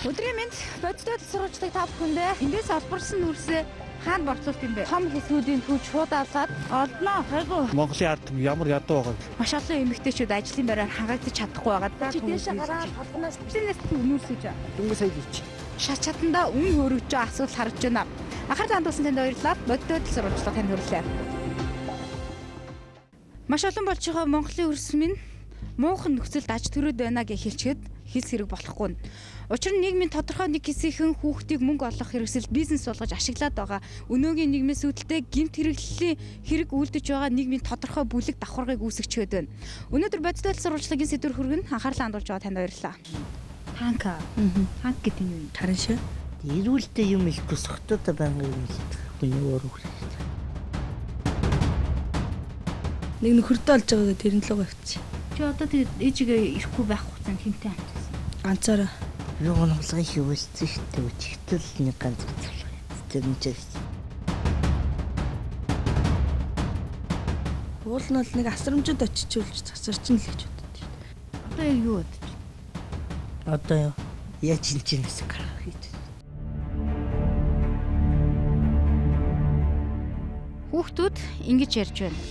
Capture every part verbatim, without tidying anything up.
Өдрийн мэнд бодиттой сурвалжлагыг та бүхэндээ эндээс олборсон нүрсээ хаана борцуулт юм бэ? Том хэсгүүдийн түүж шууд авлаад олдноо. Хайгуу. Монголын ард ямар ядуу байгаа вэ? Маш олон эмэгтэйчүүд ажлын байраар хангагдаж чадахгүй байгаа. Чи дээшээ гараад толгоноос бишнээс нүрсэж. Дөнгөж сая хийч. Шат чатанда үн хөрөж байгаа асуудал харж байна. Анхаарал хандуулсан танд баярлалаа. Бодиттой сурвалжлага танд хүрэлээ. Маш олон болж байгаа Монголын өрс минь муухан нөхцөлд аж төрөөд байна гэж хэлчихэд хэлс хэрэг болохгүй. Учир нь нийгмийн тодорхой нэг хэсгийн хүүхдийг мөнгө олох хэрэгсэл бизнес болгож ашиглаад байгаа. Өнөөгийн нийгмээс үүдэлтэй гэмт хэрэглэлийн хэрэг үлдэж байгаа нийгмийн тодорхой бүлэг давхаргыг үүсгэчихэд байна. Өнөөдөр бодиттой сурвалжлагын сэдвэр хүргэн анхаарлаа хандуулж байгаа танд баярлалаа. Танка. Танк гэдэг нь юу юм? Таран шээ. Ирүүлдэ юм ихгүй сохтоо байнга юм хэлдэг. Хүний өөр үгээр. Нэг нөхөртэй олж байгаа тэрэн л угаа авчих. Чи одоо тэгээд ээжигээ ирэхгүй байх хугацаанд хинтээ амтсан. Ганцаараа. Юу гонхолгын хөвөлцсөн шүү дээ. Өчигдөл нэг ганц цэцэрлэг. Тэр нь ч уул нь л нэг асрамжид очичулж засарчин л гэж боддог. Одоо яг юу бодож? Одоо юу? Яаж чинчнээс гарах хийж. Хүүхдүүд ингэж ярьж байна.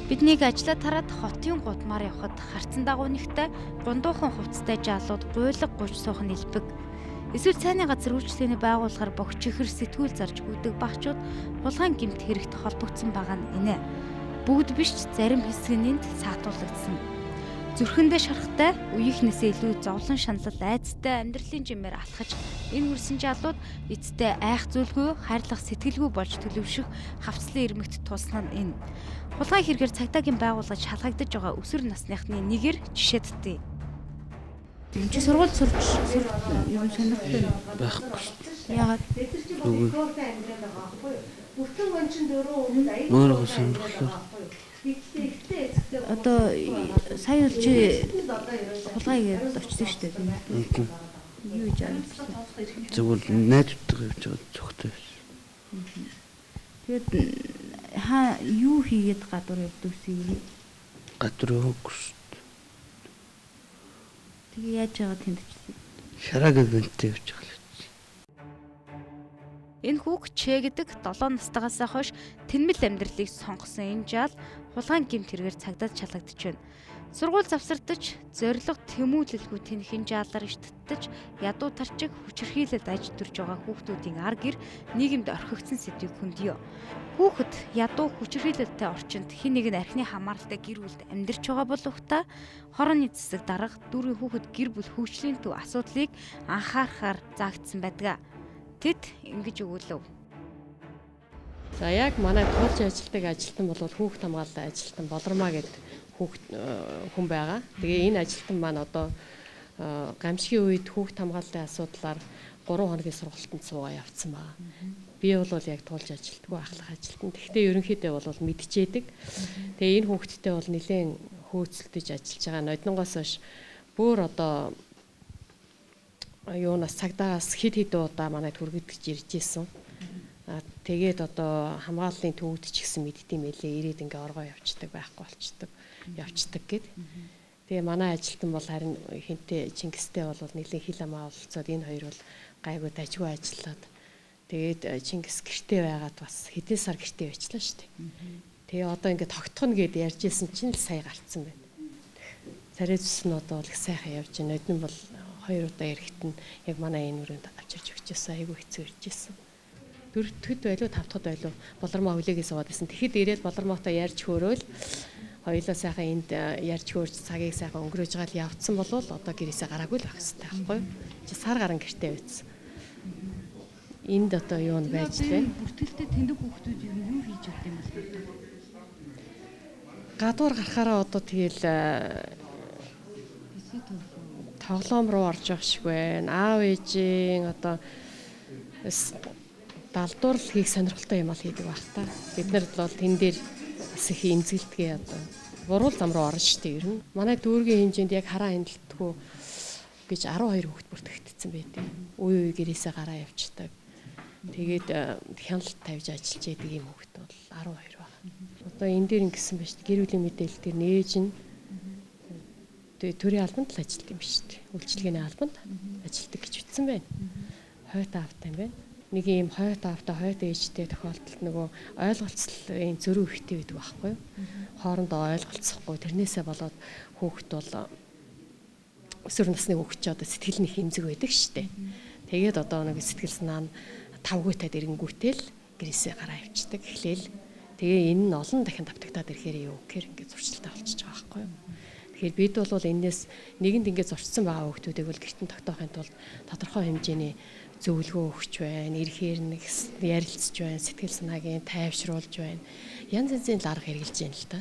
Биднийг ажлаа тараад хотын гудмаар явхад харцан дагуунигтай гундуухан хувцастай жаалууд гуйлга гуйж суух нь илбэг. Эсвэл цайны газар үйлчлэгээний байгууллагаар богч ихэр сэтгүүл зарж өгдөг багчууд хулгайн гэмт хэрэгт холбогдсон байгаа нь инэ. Бүгд биш зарим хэсэг нь энд саатуулагдсан. Зүрхэндээ шарахтай үеийнхнээсээ илүү зовлон шаналл айцтай амьдралын жимээр алхаж энэ хүрсэн жаалууд эцтэй айх зүйлгүй хайрлах сэтгэлгүй болж төлөвшөх хавцлын ирмэгт тулсан нь энэ. Хулгай хэрэгээр цагдаагийн байгууллага шалгагдаж байгаа өсвөр насныхны нэгээр жишээдтэй. Энд чи сургууль сурч юм сонирхтой Байхгүй. Яагаад? Үгүй. Бүртэн гончин дөрөв өмнө аяг Өөрөө сонирхлоо. Одоо сая л чи хулгайгээд очсон шүү дээ. Юу гэж амжсан? Зөвхөн найзуудтайгаа явж байгаа цогтой байсан. Тэгээд хаа юу хийгээд гадуур явдаг вэ? Гадуур хөгс. Тэгээ яаж байгаа тэмдэгчсэн? Шараг ивэнттэй явж байгаа л. Энэ хүүг Чэ гэдэг долоо настайгаас хойш тэнмэл амьдралыг сонгосон энэ жаал хулгайн гэмт хэрэгээр цагдаад шалгагдж байна. Сургууль завсардаж, зориг тэмүүлэлгүй тэнхэн жаалаар иштгэж, ядуу тарчиг хүчирхийлэлд аж төрж байгаа хүүхдүүдийн ар гэр нийгэмд орхигдсон сэдвийг хөндөё. Хүүхэд ядуу хүчирхийлэлтэй орчинд хэн нэг нь архины хамааралтай гэр бүлд амьдарч байгаа боловч хорооны цэцэг дарга дүүргийн хүүхэд гэр бүл хөгжлийн төв асуудлыг анхаарахаар заагдсан байдаг. Тэд ингэж өгүүлв. За яг манай туулж ажилладаг ажилтан бол хүүхд хамгаалалтын ажилтан Болормаа гэдэг хүүхд хүн байгаа. Тэгээ энэ ажилтан маань одоо гамшигын үед хүүхд хамгаалалтын асуудлаар гурван хоногийн сургалтанд суугаа явцсан байгаа. Би бол яг туулж ажилладаг ахлах ажилтан. Гэхдээ ерөнхийдөө бол мэдчихэдэг. Тэгээ энэ хүүхдтэй бол нэлээд хөөцөлдөж ажиллаж байгаа. Ноднонгоос хойш бүр одоо юунаас цагдаагаас хэд хэдэн удаа манайд хүргэгдэж ирж ирсэн. Аа тэгээд одоо хамгааллын төвд ч гэсэн мэддэм байлээ. Ирээд ингээ оргоо явцдаг байхгүй болчдөг. Явцдаг гэд. Тэгээ манай ажилтан бол харин хинтээ Чингистэй бол нэлийн хил амаа олцоод энэ хоёр бол гайгүй дажгүй ажиллаад тэгээд Чингис гэртээ байгаад бас хэдэн сар гэртээ байчлаа шүү дээ. Тэгээ одоо ингээ тогтхоно гэд ярьж ирсэн чинь л сая гарцсан байна. Царайзс нь одоо л их сайхан явж байна. Эдэн бол хоёр удаа ирэхэд нь яг манай энэ өрөөнд авчирч өгчээсэн. Айгүй хэцүү ирж ирсэн. Дөрөвдөд байлуу тавдахад байлуу Болормоо хүлээгээ суугаад байсан. Тэгэхэд ирээд Болормоотой ярьж хөөрөөл хоёулаа сайхан энд ярьж хөөрч цагийг сайхан өнгөрөөж байгаа л явцсан болвол одоо гэрээсээ гараагүй л байх хэрэгтэй байхгүй юу? Чи сар гарan гэртээ байцсан. Энд одоо юу нь байж тээ? Бүртгэлтэй тэндэг хүүхдүүд юу хийж өгд юм бэ? Гадуур гарахаараа одоо тэгэл тоглоом руу орж явах шиг байна. Аав ээжийн одоо далдуур хийх сонирхолтой юм бол хийдэг байх та. Бид нар бол тэн дээр бас их эмзэгэлтгээ одоо буруул зам руу орно шүү дээ ер нь. Манай дүүргийн хэмжээнд яг хараа хяналтгүй гэж арван хоёр хүүхэд бүртгэгдсэн байдаг. Үе үе гэрээсээ гараа явчихдаг. Тэгээд хяналт тавьж ажиллаж яадаг юм хүүхэд бол арван хоёр байна. Одоо энэ дээр ингэсэн байж гэр бүлийн мэдээлэл дээр нээж нь төрийн албанд л ажилладаг юм биш үү? Үйлчилгээний албанд ажилладаг гэж ütсэн байна. Хойд аавтай юм байна. Нэг ийм хойд аавтай, хойд ээжтэй тохиолдолд нөгөө ойлголцлын зөрүү ихтэй байдаг байхгүй юу? Хоорондоо ойлголцохгүй тэрнээсээ болоод хүүхэд бол өсвөр насны хүүхэд ч одоо сэтгэл нэг хэмзэг байдаг шүү дээ. Тэгээд одоо нэг сэтгэл санаа нь тавгуйтаад ирэнгүүтэл гэрээсээ гараа авчдаг эхлээл. Тэгээ энэ нь олон дахин давтагдаад ирэхээр юу гэхээр ингээд зуршилтай болчихж байгаа байхгүй юу? Тэгэхээр бид бол энэс нэгэнд ингээд зурцсан байгаа хүүхдүүдийг бол гэртэн тогтоохын тулд тодорхой хэмжээний зөвлөгөө өгч байна, ирэхээр нэг ярилцж байна, сэтгэл санаагийн тайвшруулж байна. Янз янзын арга хэрэгжилж байна л та.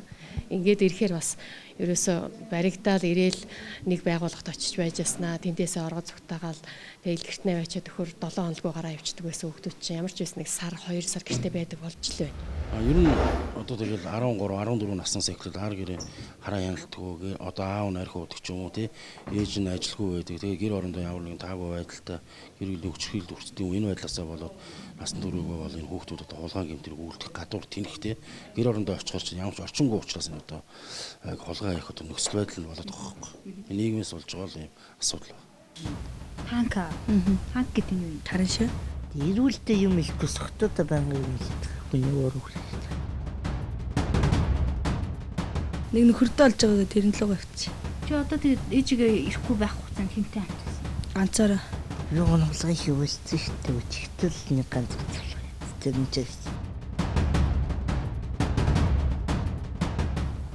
Ингээд ирэхээр бас ерөөсө баригдаал ирээл нэг байгууллагт очиж байж яснаа, тэндээсээ оргод зүгтаагаал тэгэл гэрт наваачаад өхөр долоон хоноггүй гараа явчихдаг байсан хүүхдүүд чинь ямар ч байсан нэг сар, хоёр сар гэртээ байдаг болж л байна. А ер нь одоо тэгэл арван гурав, арван дөрөв наснаас эхлээд ар гэрээ хараа яналтгүй одоо аав нь архи удаг ч юм уу тий ээж нь ажилгүй байдаг. Тэгээ гэр орондоо ямар нэгэн таагүй байдалтай гэр бүлийн хүчрхийлэл өрсдөг энэ байдлаасаа болоод насны дөрөвгөө бол энэ хүүхдүүд одоо хулгайн гэмтэр үүлдэх гадуур тэнэх тий гэр орондоо очихоор чинь ямар ч орчингүй учраас энэ одоо хулгай их одоо нөхцөл байдал нь болоод байгаа байхгүй. Нийгмээс болж байгаа л юм асуудал байна. Ханка. Ханк гэдэг нь юу? Таран шүү. Ирүүлдэ юм ихгүй сохтоо байнга юм л хүний өөр үгүй. Нэг нөхөрдөө олж байгаагаа тэрэн лугаа авчих. Чи одоо тэгээд ээжигээ ирэхгүй байх хугацаанд хинтээ амтсан. Ганцаараа. Юу гонхолгын хөвөлцсөн шүү дээ. Өчигдөл нэг ганц цэцлэг. Тэр нь ч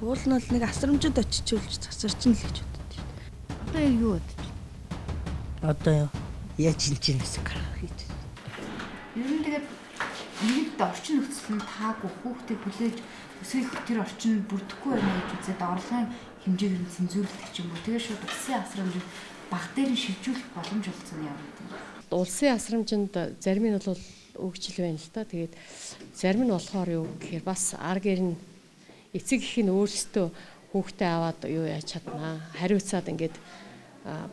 уул нь бол нэг асрамжид очичулж засарчин л гэж боддог шүү дээ. Одоо яг юу бодож байна? Одоо юу? Яаж чинчнээс гарах гэж. Ер нь тэгээд нэгд орчин нөхцөл нь таагүй хүүхдийг хүлээж өсгөх тэр орчин бүрдэхгүй байна гэж үзээд орлогын хэмжээг нь цензуурлах юм уу? Тэгээд шууд улсын асрамжид баг дээр нь шилжүүлэх боломж олцсон юм байна. Улсын асрамжинд зарим нь бол өгчл байна л та. Тэгээд зарим нь болохоор юу гэхээр бас ар гэр нь эцэг их нь өөрсдөө хүүхдээ аваад юу яаж чаднаа хариуцаад ингээд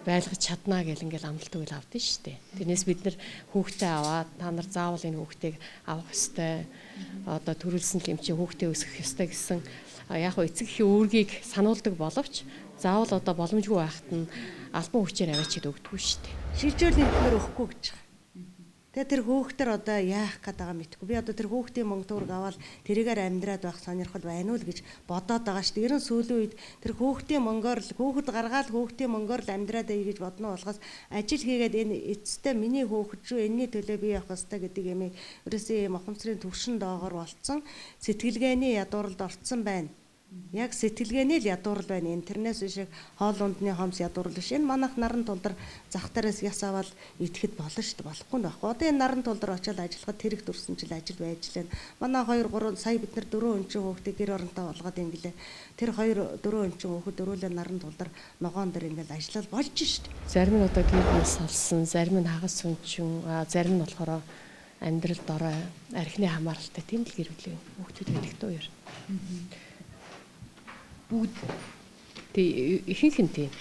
байлгаж чаднаа гэл ингээл амлалтыг л авдсан шүү дээ. Тэрнээс бид нар хүүхдээ аваад та нар заавал энэ хүүхдийг авах ёстой. Одоо төрүүлсэн л юм чи хүүхдээ өсгөх ёстой гэсэн яг хөө эцэг эхийн үүргийг сануулдаг боловч заавал одоо боломжгүй байхад нь албан хүчээр аваачид өгдөггүй шүү дээ. Шилжүүлний хэлбэр өгөхгүй гэж байгаа. Тэгээ тэр хүүхдэр одоо яах гээд байгаа мэдгүй. Би одоо тэр хүүхдийн мөнгө төгрөг аваад тэрийгээр амьдраад байх сонирхол байна уу л гэж бодоод байгаа шүү дээ. Ерөн сүүлийн үед тэр хүүхдийн мөнгөөр л хүүхэд гаргаад хүүхдийн мөнгөөр л амьдраад ий гэж бодно болохоос ажил хийгээд энэ эцэстээ миний хүүхэд шүү энэний төлөө би явах ёстой гэдэг юм ерөөсөө юм ухамсарын төвшин доогоор болцсон сэтгэлгээний ядууралд орцсон байна. Яг сэтгэлгээний л ядуурал байна. Интернет шиг хоол ундны хомс ядуурал биш. Энэ манайх наран тулдар зах дээрээс яс аваад идэхэд болно шүү дээ. Болохгүй нь байхгүй. Одоо энэ наран тулдар очиод ажиллахад тэрэг дүрсэн жил ажил байж лээ. Манай хоёр гурав сая бид нар дөрөв өнчин хүүхдээ гэр оронтой болгоод ингэлээ. Тэр хоёр дөрөв өнчин хүүхэд дөрүүлээ наран тулдар ногоон дээр ингээл ажиллаад болж шүү дээ. Зарим нь одоо гэр бүл салсан, зарим нь хагас сүнчин, зарим нь болохоор амьдралд орой архины хамааралтай тийм л гэр бүлийн хүүхдүүд байдаг дөө ер. Бүгд тий ихэнх нь тийм.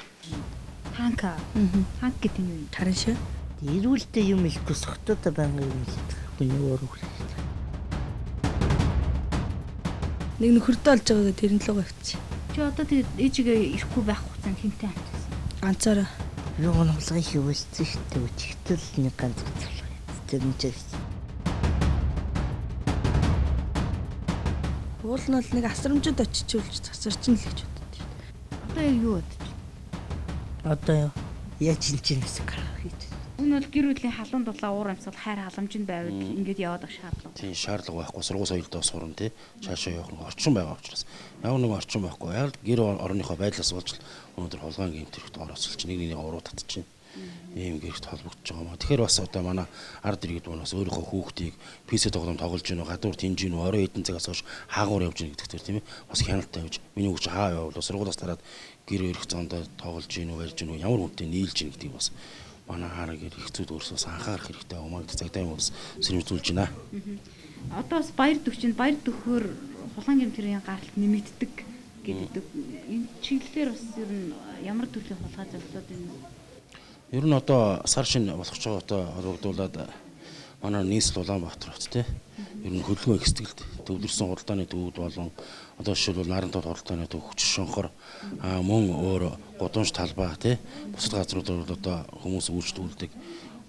Ханка. Ханк гэдэг нь юу? Таран шүү. Ирүүлдэ юм ихгүй сохтоо байнга юм л хүний өөр үгүй. Нэг нөхөрдөө олж байгаагаа тэрэн лугаа авчих. Чи одоо тэгээд ээжигээ ирэхгүй байх хугацаанд хинтээ амтсан. Ганцаараа. Юу гонхолгын хөвөлцсөн шүү дээ. Өчигдөл нэг ганц цэцлэг. Тэр нь ч уул нь бол нэг асрамжид очичулж засарчин л гэж боддог шүү дээ. Одоо яг юу бодож байна? Одоо юу? Яаж чинчнээс гарах гэж. Энэ бол гэр бүлийн халуун дулаан уур амьсгал хайр халамжинд байвал ингээд яваад ах шаардлага. Тийм шаардлага байхгүй сургууль соёлдоо сурна тий цаашаа явах нэг орчин байгаа учраас ямар нэг орчин байхгүй яг гэр орныхоо байдлаас болж өнөөдөр хулгайн гэмтэрхт орооцолч нэг нэгний уруу татчихна. Ийм гэрэгт холбогдож байгаа маа. Тэгэхээр бас одоо манай ард иргэд манаас өөрийнхөө хүүхдийг пи си тоглоом тоглож гинөө, гадуур тэнж гинөө, орой хэдэн цагаас хойш хаагуур явж гинэ гэдэгтэр тийм ээ. Бас хяналт тавьж миний хүүхд хаа явбал сургуулиас тараад гэр өрөх зоондоо тоглож гинөө, барьж гинөө, ямар хүнтэй нийлж гинэ гэдгийг бас манай хаараа гэр ихцүүд өөрсдөөс анхаарах хэрэгтэй юмаа гэдэг цагдаа юм бас сэрэмжлүүлж байна. Одоо бас баяр төгчөнд баяр төгөхөөр хулгайн гэмтэрийн гаралт нэмэгддэг гэдэг. Энэ чиглэлээр бас ер нь ямар төрлийн хулгай зохицоод байна вэ? Ер нь одоо сар шин болох ч одоо холбогдуулаад манай нийслэл Улаанбаатар хот тий. Ер нь хөдөлгөөн их сэтгэлд төвлөрсөн худалдааны төвүүд болон одоо жишээлбэл Нарантууд худалдааны төв хүч шонхор мөн өөр гудамж талбай тий. Бусад газруудаар одоо хүмүүс үйлчлүүлдэг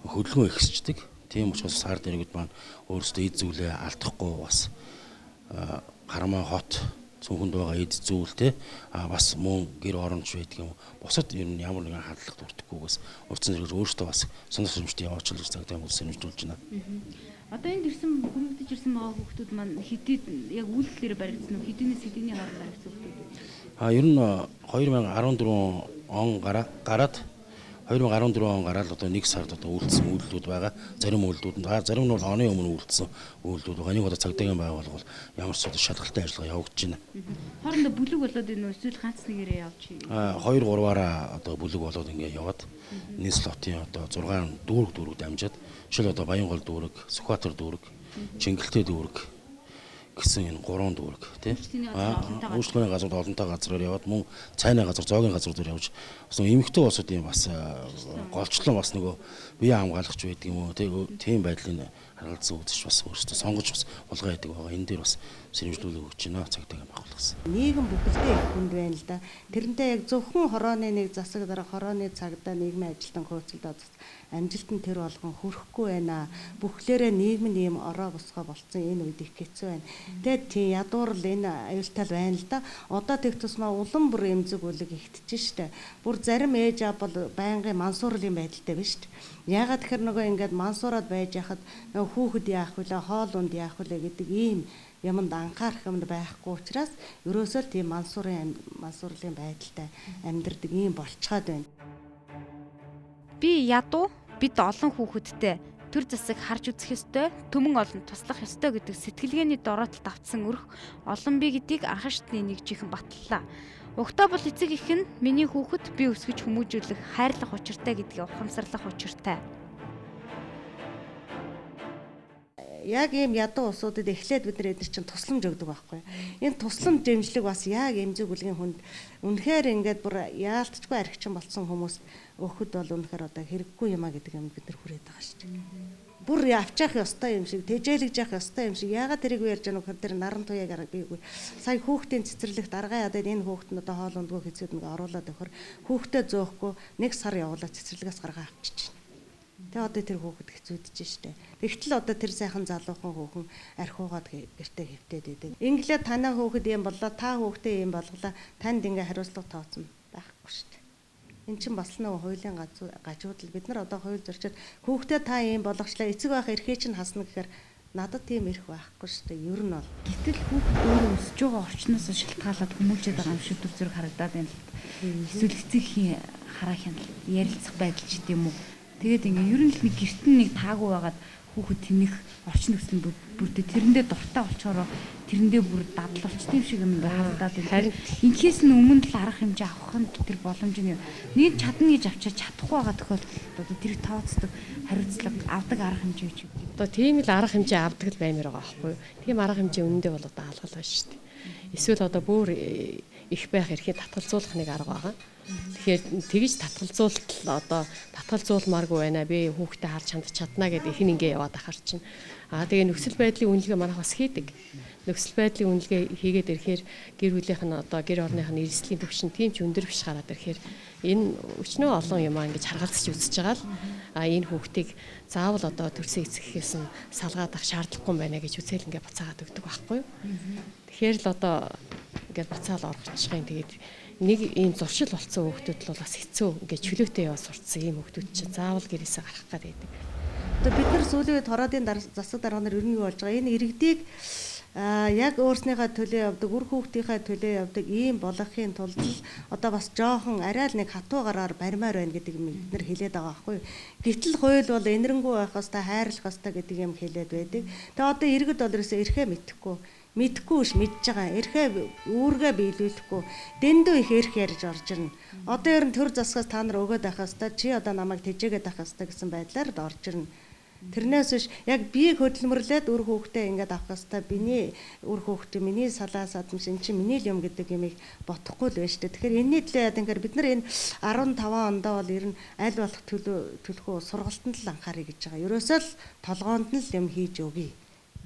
хөдөлгөөн ихсчдэг. Тийм учраас сар дэрэгд маань өөрсдөө эд зүйлээ алдахгүй бас Харамаа хот цөөхөнд байгаа эд зүйл те а бас мөн гэр оронч байдаг юм. Бусад ер нь ямар нэгэн хандлага бүрдэхгүйгээс урьдчилан зэрэг өөртөө бас сонир хэмжтэй явуулж цагтай хүмүүс сэрэмжлүүлж байна. Одоо энд ирсэн хүмүүдэж ирсэн байгаа хүмүүс маань хэдий яг үйлдэлээр баригдсан уу? Хэдийнээс хэдийний хооронд баригдсан хүмүүс? А ер нь две тысячи арван дөрвөн он гараад две тысячи арван дөрвөн он гараад одоо нэг сард одоо үйлдэлсэн үйлдэлүүд байгаа. Зарим үйлдэлүүд нь зарим нь бол оны өмнө үйлдэлсэн үйлдэлүүд байгаа. Нэг одоо цагдаагийн байгууллага ямар ч одоо шалгалтай ажиллагаа явагдаж байна. Хоорондоо бүлэг болоод энэ эсвэл ганц нэгээрээ явж байна. А хоёр гурваараа одоо бүлэг болоод ингэ яваад нийслэл хотын одоо зургаан дүүрэг дүүрэг дамжаад жишээл одоо Баянгол дүүрэг, Сүхбаатар дүүрэг, Чингэлтэй дүүрэг гэсэн энэ гурван дүүрэг тий. Үйлчлэгийн газар олонтой газраар яваад мөн цайны газар, зоогийн газар дээр явж бас эмэгтэй улсуудын бас голчлон бас нөгөө бие хамгаалагч байдаг юм уу тийм байдлын харгалзан үзэж бас өөрсдөө сонгож бас болгоо яадаг байгаа. Энэ дээр бас сэрэмжлүүлэг өгч байна цагдаагийн байгууллагаас. Нийгэм бүхэлдээ их хүнд байна л да. Тэрнтэй яг зөвхөн хорооны нэг засаг дараа хорооны цагдаа нийгмийн ажилтан хөөцөлдөө амжилтанд тэр болгон хүрэхгүй байна. Бүхлээрээ нийгэм нь ийм ороо босгоо болцсон энэ үед их хэцүү байна. Тэгээд тийм ядуурл энэ аюултай байна л да. Одоо тех тусмаа улам бүр эмзэг үлэг ихтэж штэ. Бүр зарим ээж аав бол байнгын мансуурлын байдалтай биш штэ. Ягаад тэгэхээр нөгөө ингээд мансуураад байж хахад нөгөө хүүхэд яах вүлээ, хоол унд яах вүлээ гэдэг ийм юмд анхаарах юмд байхгүй учраас ерөөсөө л тийм мансуурын мансуурлын байдалтай амьдардаг ийм болцоод байна. Би ядуу бид олон хүүхэдтэй төр засаг харж үзэх ёстой, төмөн олон туслах ёстой гэдэг сэтгэлгээний дороотолд автсан өрх олон бие гэдгийг анхаарчны нэг чихэн батллаа. Угтаа бол эцэг их нь миний хүүхэд би өсгөж хүмүүжүүлэх хайрлах учиртай гэдгийг ухамсарлах учиртай. Яг ийм ядуу улсуудад эхлээд бид нар эдгээр чинь тусламж өгдөг байхгүй. Энэ тусламж дэмжлэг бас яг эмзэг үлгийн хүнд үнэхээр ингээд бүр яалтчгүй архичин болсон хүмүүс өөхөд бол үнэхээр одоо хэрэггүй юмаа гэдэг юм бид нар хүрээд байгаа шүү дээ. Бүр авчаах ёстой юм шиг, тэжээлгэж явах ёстой юм шиг. Яагаад тэрийг ярьж байгаа нөхөр тэр наран туяаг аргагүй. Сая хүүхдийн цэцэрлэгт аргаа ядаад энэ хүүхд нь одоо хоол ундгүй хэцүүд нэг оруулаад өгөхөр хүүхдээ зөөхгүй нэг сар явуулаад цэцэрлэгээс гаргаа авчиж чинь. Тэгээ одоо тэр хүүхэд хэцүүдэж штэ. Тэгтэл одоо тэр сайхан залуухан хүүхэн архиугаад гэртээ хөвтөөд идэг. Инглээ танаа хүүхэд юм боллоо, та хүүхдээ юм болголоо. Танд ингээ хариуцлага тооцсон байхгүй штэ. Эн чинь бас нэг хуулийн гажуудал. Бид нар одоо хууль зөрчил хүүхдээ та юм болгочлаа, эцэг байх эрхээ чинь хасна гэхээр надад тийм эрх байхгүй шүү дээ. Ер нь бол. Гэтэл хүүхэд өөрөө өсөж байгаа орчноос шалтгаалаад хүмүүжээд байгаа юм шиг төр зэрэг харагдаад байна л. Эсвэл эцэгхийн хараа хяналт ярилцах байдал ч гэдэм үү. Тэгээд ингээ ер нь л нэг гэртэн нэг таагүй байгаад хүүхэд тэнэх орчин нөхцөл бүрдээ тэрэндээ дуртай болчоороо тэрэндээ бүр дадал болчтой юм шиг юм ингээ харагдаад байна. Харин инхээс нь өмнө л арга хэмжээ авах нь тэр боломж нь нэг чадна гэж авчиж чадахгүй байгаа тохиолдолд одоо тэр тооцдог хариуцлага авдаг арга хэмжээ гэж үү. Одоо тийм л арга хэмжээ авдаг л баймир байгаа байхгүй юу? Тийм арга хэмжээ үнэндээ бол одоо алгал байна шүү дээ. Эсвэл одоо бүр их байх эрхийг татгалзуулах нэг арга байгаа. Тэгэхээр тэгж татгалзуулалт л одоо татгалзуулмааргүй байна. Би хүүхдээ харж хандж чадна гэдэг их ингээ яваад ахаар чинь. Аа тэгээ нөхцөл байдлын үнэлгээ манайх бас хийдэг. Нөхцөл байдлын үнэлгээ хийгээд ирэхээр гэр бүлийнх нь одоо гэр орных нь эрсдлийн төвшин тийм ч өндөр биш гараад ирэхээр энэ өчнөө олон юм аа ингэж харгалзаж үзэж байгаа л а энэ хүүхдийг заавал одоо төрсөн эцэгхээс нь салгаад ах шаардлагагүй юм байна гэж үцэл ингээ буцаагаад өгдөг байхгүй юу. Тэгэхээр л одоо ингээд буцаал орчихын тэгээд нэг ийм зуршил болцсон хүүхдүүд л бас хэцүү ингээд чөлөөтэй яваа сурцсан ийм хүүхдүүд чинь заавал гэрээсээ гарах гад байдаг. Одоо бид нар сүүлийн үед хороодын засаг дарганаар ер нь юу болж байгаа? Энэ иргэдийг а яг өөрснийхээ төлөө явдаг, үр хүүхдийнхээ төлөө явдаг ийм болохын тулд одоо бас жоохон арай л нэг хатуу гараар баримаар байна гэдэг юм бид нар хэлээд байгаа байхгүй юу. Гэтэл хууль бол энэрэнгүй байх хэвээр хайрлах хэвээр гэдэг юм хэлээд байдаг. Тэгээ одоо иргэд бол ерөөсөө эрхээ мэдэхгүй. Мэдхгүй ш мэдж байгаа. Эрхээ үүргээ биелүүлэхгүй. Дэндүү их эрх ярьж орж ирнэ. Одоо ер нь төр засгаас та нар өгөөд байх хэвээр чи одоо намайг тэжээгээд байх хэвээр гэсэн байдлаар орж ирнэ. Тэрнээс биш яг биеийг хөдөлмөрлөөд үр хүүхдээ ингээд авах хэвээр биний үр хүүхдээ миний салаа садамж эн чинь миний л юм гэдэг юмыг бодохгүй л байна шүү дээ. Тэгэхээр энэний төлөө яа тэгэхээр бид нар энэ арван таван ондоо бол ер нь аль болох төлөө төлөхөө сургалтанд л анхаарыг гэж байгаа. Ерөөсөө л толгоонд нь л юм хийж өгье.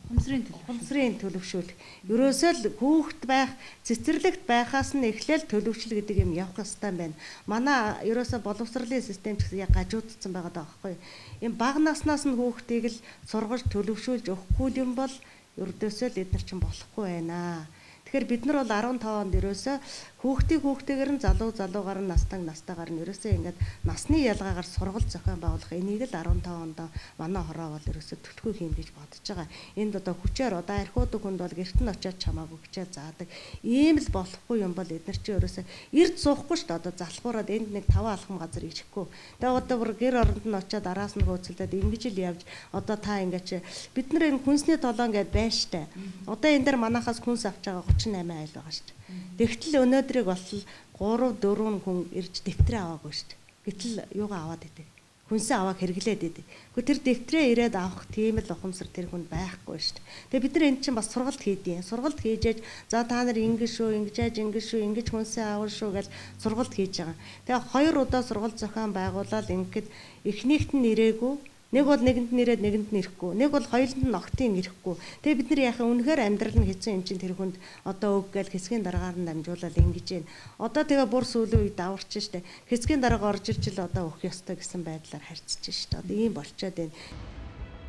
Ухамсарын төлөв. Ухамсарын төлөвшүүл. Ерөөсөө л хүүхэд байх, цэцэрлэгт байхаас нь эхлээл төлөвшил гэдэг юм явах ёстой байна. Манай ерөөсөө боловсролын систем ч гэсэн яг гажуудсан байгаа даахгүй. Ийм бага наснаас нь хүүхдийг л сургаж төлөвшүүлж өгөхгүй юм бол ердөөсөө л эдгээр чинь болохгүй байна. Тэгэхээр бид нар бол арван таван онд ерөөсөө хүүхдийг хүүхдээгээр нь залуу залуугаар нь настаг настагаар нь ерөөсөө ингээд насны ялгаагаар сургалт зохион байгуулах энийг л арван таван онд манай хороо бол ерөөсөө төлхөө хийм гэж бодож байгаа. Энд одоо хүчээр одоо архиудаг хүнд бол гэрт нь очиад чамаагүй хүчээр заадаг. Ийм л болохгүй юм бол эдгээр чинь ерөөсөө эрд суухгүй шүү дээ. Одоо залхуураад энд нэг таван алхам газар ирэхгүй. Тэгээ одоо бүр гэр оронд нь очиад араас нь хөөцөлдөд ингэж л явж одоо та ингээд чи бид нар энэ хүнсний толон гэдээ байна штэ. Одоо энэ дээр манахаас хүнс авч байгаа гучин и восемь айл байгаа штэ. Тэгтэл өнөөдрийг болтол гурав дөрвөн хүн ирж дэвтрээ аваагүй шүү дээ. Гэтэл юугаа аваад идэв. Хүнсээ аваад хэрэглээд идэв. Гэхдээ тэр дэвтрээ ирээд авах тийм л ухамсар тэр хүнд байхгүй шүү дээ. Тэгээ бид нар эн чинь бас сургалт хийдیں۔ Сургалт хийжээж за та нар ингэж шүү, ингэж яаж ингэж шүү, ингэж хүнсээ аавал шүү гэж сургалт хийж байгаа. Тэгээ хоёр удаа сургалт зохион байгуулаад ингээд эхнийхт нь ирээгүй. Нэг бол нэгэнд нь ирээд нэгэнд нь ирэхгүй. Нэг бол хоёуланд нь огтын ирэхгүй. Тэгээ бид нар яхаа үнэхээр амьдрал нь хэцүү юм чинь тэр хүнд одоо өг гээл хэсгийн дараагаар нь дамжуулаад ингэж байна. Одоо тэгээ бүр сүүлийн үед даварч штэ. Хэсгийн дараагаар орж ирж л одоо өөх ёстой гэсэн байдлаар харьцаж штэ. Одоо ийм болчоод байна.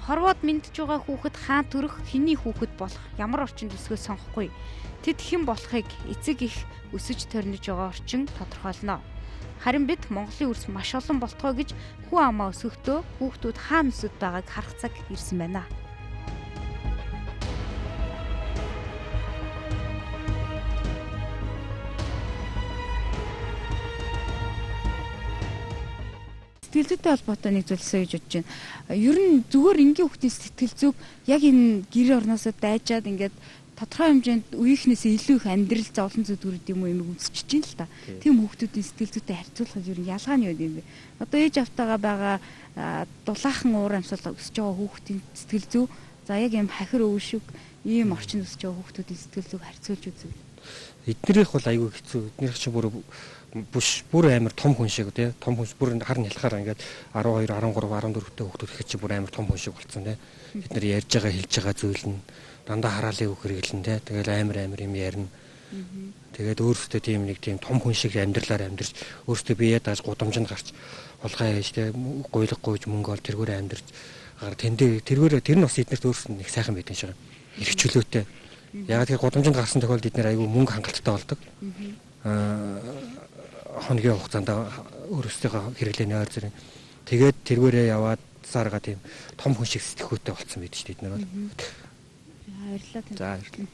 Хорвоод мэдж байгаа хүүхэд хаан төрөх, хэний хүүхэд болох, ямар орчинд өсгөө сонгохгүй. Тэд хэн болохыг эцэг их өсөж төрнөж байгаа орчин тодорхойлно. Харин бид Монголын үрс маш олон болтгоо гэж хүн амаа өсгөхдөө хүүхдүүд хаана өсөд байгааг харах цаг ирсэн байна. Сэтгэлзүйтэй холбоотой нэг зүйлсээ гэж бодож байна. Ер нь зүгээр энгийн хүүхдийн сэтгэл зүйг яг энэ гэр орноосоо дайжаад ингээд тодорхой хэмжээнд үеийнхнээсээ илүү их амьдрал зовлон зүдгүрд юм уу юм үзчихэж байна л та. Тийм хүүхдүүдийн сэтгэл зүйтэй харьцуулахад ер нь ялгаа нь юу юм бэ? Одоо ээж автагаа байгаа дулаахан уур амьсгал өсөж байгаа хүүхдийн сэтгэл зүй за яг юм хахир өвшиг ийм орчинд өсөж байгаа хүүхдүүдийн сэтгэл зүйг харьцуулж үзвэл эднэрийнх бол айгүй хэцүү. Эднэрийнх чинь бүр бүш бүр амар том хүн шиг тий. Том хүн бүр хар нялхаар ингээд арван хоёр, арван гурав, арван дөрвтэй хүүхдүүд ихэд чи бүр амар том хүн шиг болцсон тий. Бид нар ярьж байгаа хэлж байгаа зүйл нь дандаа хараалыг үг хэрэглэн тий. Тэгэл амар амар юм ярина. Тэгээд өөрөөсөө тийм нэг тийм том хүн шиг амьдралаар амьдарч өөрөөсөө биеэ дааж гудамжинд гарч улгаа ээж тий. Гуйлга гуйж мөнгө ол тэргээр амьдарч гар тэндээ тэргээр тэр нь бас эднэрт өөрөөсөө нэг сайхан байдаг шиг. Ирэх чөлөөтэй. Яг тэр гудамжинд гарсан тохиолдолд эднэр айгүй мөнгө хангалттай болдог. Аа хоногийн хугацаанд өөрөөсөө хэрэглээний ойр зэрэг. Тэгээд тэргээрээ яваад сарга тийм том хүн шиг сэтгэхүйтэй болсон байдаг шүү дээ эднэр бол. Баярлалаа. За баярлалаа.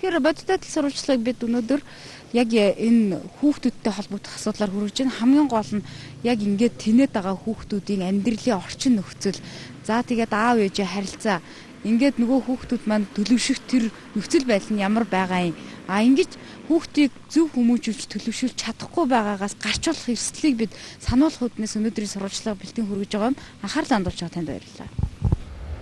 Тэгэхээр бодиттой сурвалжлагыг бид өнөөдөр яг энэ хүүхдүүдтэй холбогдох асуудлаар хүргэж байна. Хамгийн гол нь яг ингээд тэнээд байгаа хүүхдүүдийн амьдралын орчин нөхцөл. За тэгээд аав ээжээ харилцаа. Ингээд нөгөө хүүхдүүд маань төлөвшөх тэр нөхцөл байдал нь ямар байгаа юм. А ингэж хүүхдийг зөв хүмүүжүүлж төлөвшүүлж чадахгүй байгаагаас гарч болох эрсдлийг бид сануулах үднээс өнөөдрийн сурвалжлага бэлтэн хүргэж байгаа юм. Анхаарал хандуулж байгаа танд баярлалаа.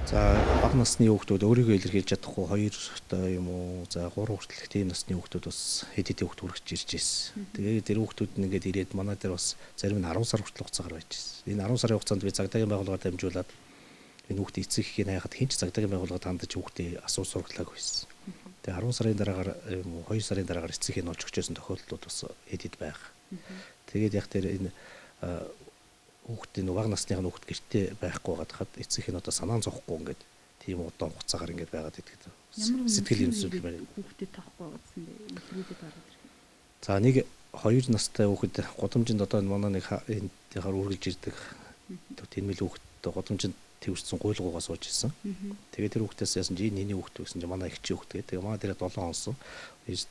За бага насны хүүхдүүд өөрийгөө илэрхийлж чадахгүй хоёр та юм уу за гурван хүртэлх тийм насны хүүхдүүд бас хэд хэдэн хүүхд хүрэж ирж байсан. Тэгээд тэр хүүхдүүд нь ингээд ирээд манай дээр бас зарим нь арван сар хүртэл хугацаагаар байж байсан. Энэ арван сарын хугацаанд би цагдаагийн байгууллагаар дамжуулаад энэ хүүхдийн эцэг эхийн хайхад хинч цагдаагийн байгууллагад хандаж хүүхдээ асуу сургалааг байсан. Тэгээ арван сарын дараагаар юм уу хоёр сарын дараагаар эцэг эхийн олж өгчөөсөн тохиолдлууд бас хэд хэд байх. Тэгээд яг тэр энэ хүүхдийн бага насныхаа хүүхд гэртээ байхгүй байгаад хад эцэг эхийн одоо санаан зовхгүй ингээд тийм удаан хугацаагаар ингээд байгаад идэг. Сэтгэл зүйн байна. Хүүхдэд тахгүй байгаадсан бэ? Интервьюд гараад ирэх. За нэг хоёр настай хүүхэд гудамжинд одоо манай нэг энэ хаар үргэлж ирдэг. Тэнмэл хүүхэд гудамжинд тэрсэн гуйлгуугаа сууж ирсэн. Тэгээд тэр хүүхдээс яасан чи энэ хүүхд гэсэн чи манай ихчийн хүүхд гэдэг. Тэгээ манай дээр долоон онсон.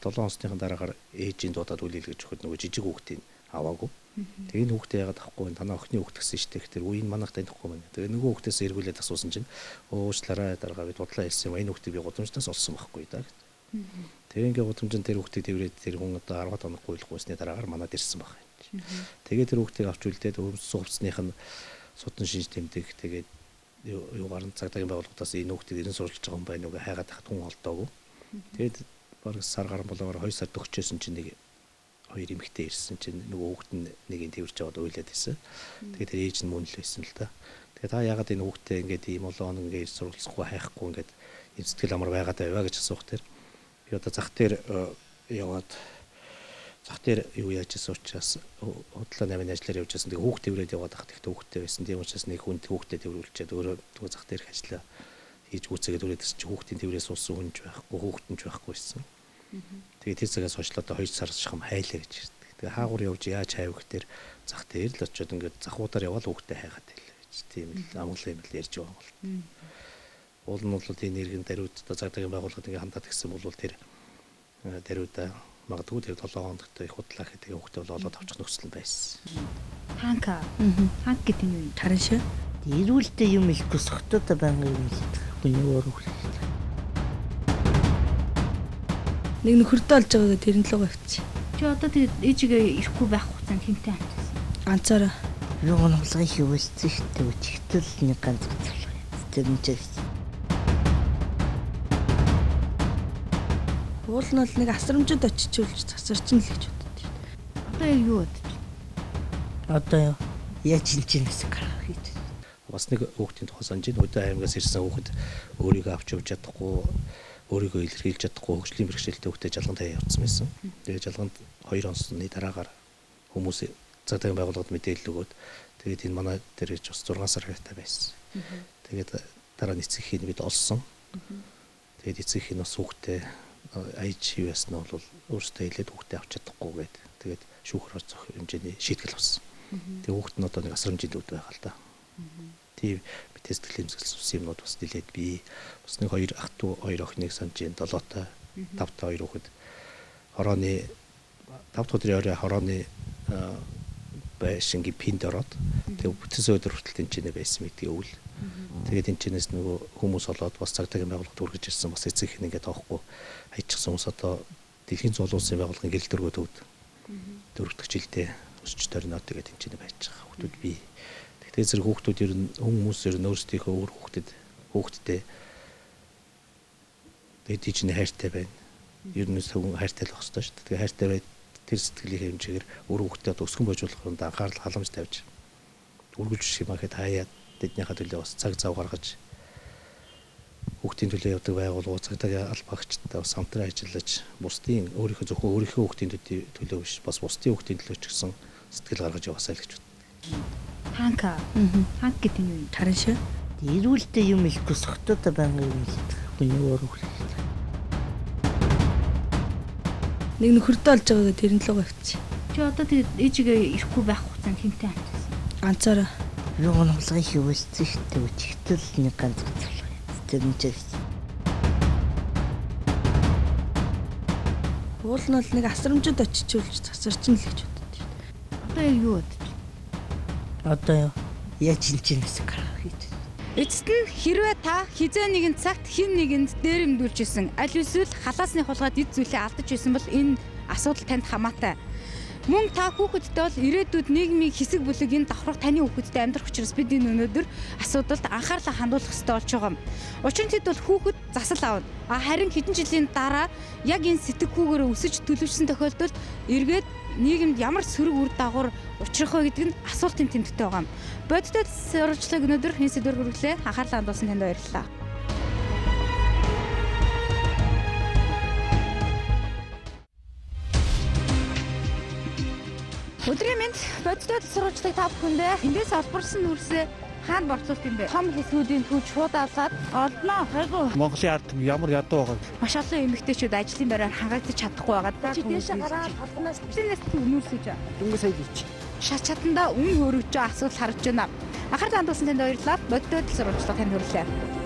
долоон онсныхаа дараагаар ээжийн дуудаад үлээлгэж өгөхөд нөгөө жижиг хүүхдийн аваагүй. Тэгээ энэ хүүхдээ яагаад авахгүй танаа охины хүүхд гэсэн штэ гэхээр үе нь манайх танихгүй байна. Тэгээ нөгөө хүүхдээс эргүүлээд асуусан чинь уучлаарай дараагаар би дудлаа хэлсэн юм. Энэ хүүхдийг би гудамжтаас олсон байхгүй да гэж. Тэгээ ингээ гудамжинд тэр хүүхдийг тэрврээд тэр хүн одоо арван хоног гуйлгуусны дараагаар манад ирсэн баг. Тэгээ тэр хүүхдийг авч үлдээд өвс хувцсных нь судан шинж тэмдэг тэгээд юугаар нь цагдаагийн байгууллагаас энэ хүүхдийг ирэн сурвалж байгаа юм байна уу гэ хайгаад тахад хүн олдоогүй. Тэгээд бараг сар гарan болоогоор хоёр сар төгчөөсөн чинь нэг хоёр эмэгтэй ирсэн чинь нөгөө хүүхд нь нэг нь тэрвэрч аваад уйлаад байсан. Тэгээд тэр ээж нь мөн л байсан л да. Тэгээд та яагаад энэ хүүхдээ ингээд ийм олон ингээд сурвалцахгүй хайхгүй ингээд ийм сэтгэл амар байгаад байваа гэж асуух тэр. Би одоо зах дээр яваад зах дээр юу яаж ирсэн учраас худлаа намын ажиллаар явж байсан. Тэгээд хүүхд тэрврээд яваад хахад их хүүхдтэй байсан. Тийм учраас нэг хүн хүүхдэд тэрвэрлчихэд өөрөө нөгөө зах дээр ажиллаа хийж гүцээгээд үрээдсэн чи хүүхдийн тэрврээс суусан хүн ч байхгүй, хүүхд нь ч байхгүй байсан. Тэгээд тэр цагаас хойш л одоо хоёр сар шахам хайлаа гэж ирдэг. Тэгээд хаагур явж яаж хайв гэхээр зах дээр л очиод ингээд захуудаар яваад хүүхдээ хайгаад байлаа гэж. Тийм л амгалан юм л ярьж байгаа юм бол. Уул нь бол энэ иргэн даруйд одоо цагдаагийн байгууллагад ингээд хандаад гисэн бол тэр даруйда магадгүй тэр долоо хоногт их худлаа гэдэг хүүхдээ бол олоод авчих нөхцөл байсан. Ханка. Ханк гэдэг нь юу? Таран шээ. Ирүүлдэ юм их босхотоо байнгын юм л хүний өөр үгүй. Нэг нөхөрдөө олж байгаагаа тэрэн л угаа авчи. Чи одоо тэгээд ээжигээ ирэхгүй байх хугацаанд хинтээ амжсан. Ганцаараа юу гонхолгоо хийвэссэн шүү дээ. Өчигдөл нэг ганц цалгаа. Тэр нь ч уул нь бол нэг асрамжид очичулж засарчин л гэж боддог. Одоо яг юу бодож? Одоо яаж чинчнээс гарах гэж. Бас нэг хүүхдийн тухай санаж байна. Өдөө аймагаас ирсэн хүүхэд өөрийгөө авч явж чадахгүй, өөрийгөө илэрхийлж чадахгүй хөгжлийн бэрхшээлтэй хүүхдэд жалган таяа явуулсан байсан. Тэгээд жалганд хоёр онцны дараагаар хүмүүс цагдаагийн байгууллагад мэдээлэл өгөөд тэгээд энэ манай дээр ч бас зургаан сар хэрэгтэй байсан. Тэгээд дараа нь эцэгхийн бид олсон. Тэгээд эцэгхийн бас хүүхдээ аяж хийвэсэн нь бол өөртөө хэлээд хүүхдээ авч чадахгүй гээд тэгээд шүүхрээр зөх хэмжээний шийтгэл авсан. Тэгээд хүүхд нь одоо нэг асрамжид үд байгаа л да. Тийм мэдээ сэтгэл хөдлөл юмнууд бас нэлээд бий. Бас нэг хоёр ах トゥ хоёр охиныг санаж байна. долоотой тавтай хоёр хүүхэд хорооны тавт өдрийн орой хорооны байшингийн пинд ороод тэгээ бүтэн өдөр хүртэл тэнцэнэ байсан мэдээ өвл. Тэгээд тэнцэнээс нөгөө хүмүүс олоод бас цагдаагийн байгууллагад үргэж ирсэн бас эцэг их ингээд тоохгүй хайчихсан хүмүүс одоо дэлхийн зуул улсын байгууллагын гэрэл дөрвөө төвд дөрөвдөг жилдээ өсч төрнөө тэгээд тэнцэнэ байж байгаа хүмүүс бий. Тэгээд зэрэг хүүхдүүд ер нь хүмүүс ер нь өөрсдийнхөө өөр хүүхдэд хүүхдтэй тэгээд тийчний хайртай байна. Ер нь зөвхөн хайртай л байх хэрэгтэй шүү дээ. Тэгээд хайртай бай тэр сэтгэлийн хэмжээгээр өөр хүүхдэд өсгөн божуулах юм да анхаарал халамж тавьж үргэлж шимахэд хаяад тэднийхээ төлөө бас цаг зав гаргаж хүүхдийн төлөө явдаг байгууллагууд цагдаагийн албаагчтай бас хамтран ажиллаж бусдын өөрийнхөө зөвхөн өөрийнхөө хүүхдийн төлөө биш бас бусдын хүүхдийн төлөө ч гэсэн сэтгэл гаргаж яваасаа л гэж боддог. Ханка. Ханк гэдэг нь юу? Таран шээ. Ирүүлдэ юм их босхотоо байнгын юм л хүний өөр үгүй. Нэг нөхөрдөө олж байгаагаа тэрэн л угаа авчи. Чи одоо тэгээд ээжигээ ирэхгүй байх хугацаанд хинтээ амжсан. Ганцаараа юу гонхолгоо хийвэссэн шүү дээ. Өчигдөл нэг ганц цалгаа. Тэр нь ч уул нь бол нэг асрамжид очичулж засарчин л гэж боддог. Одоо яг юу бодож? Одоо яаж чинчнээс гарах гэж. Эцэст нь хэрвээ та хизээ нэгэн цагт хин нэгэнд дээрэмдүүлж исэн аль эсвэл халаасны хулгайд эд зүйлээ алдаж исэн бол энэ асуудал танд хамаатай. Мөн та хүүхэдтэй бол ирээдүйд нийгмийн хэсэг бүлэг энэ давхрах таны хүүхэдтэй амьдрах учраас бид энэ өнөөдөр асуудалд анхаарлаа хандуулах хэрэгтэй болж байгаа юм. Учир нь тэд бол хүүхэд засал авна. А харин хэдэн жилийн дараа яг энэ сэтгхүүгээр өсөж төлөвшсөн тохиолдолд эргээд нийгэмд ямар сөрөг үр дагавар учрах вэ гэдэг нь асуултын тэмдэгтэй байгаа юм. Бодиттой сурвалжлыг өнөөдөр энэ сэдвээр хүргэлээ. Анхаарлаа хандуулсан танд баярлалаа. Өдрийн мэнд бодиттой сурвалжлыг та бүхэндээ эндээс олборсон нүрсээ хаана борцуулт юм бэ? Том хэлхүүдийн түүж шууд аваад олдноо. Хайгуу. Монголын ард ямар ядуу байгаа. Маш олон эмэгтэйчүүд ажлын байраар хангагдаж чадахгүй байгаа. Чи дээшээ гараад толгоноос тэнээс нүрсэж байгаа. Дөнгөж сая хийч. Шат чатанда үн хөрөж байгаа асуудал харж байна. Анхаарлаа хандуулсан танд баярлалаа. Бодиттой сурвалжлыг танд хүргэлээ.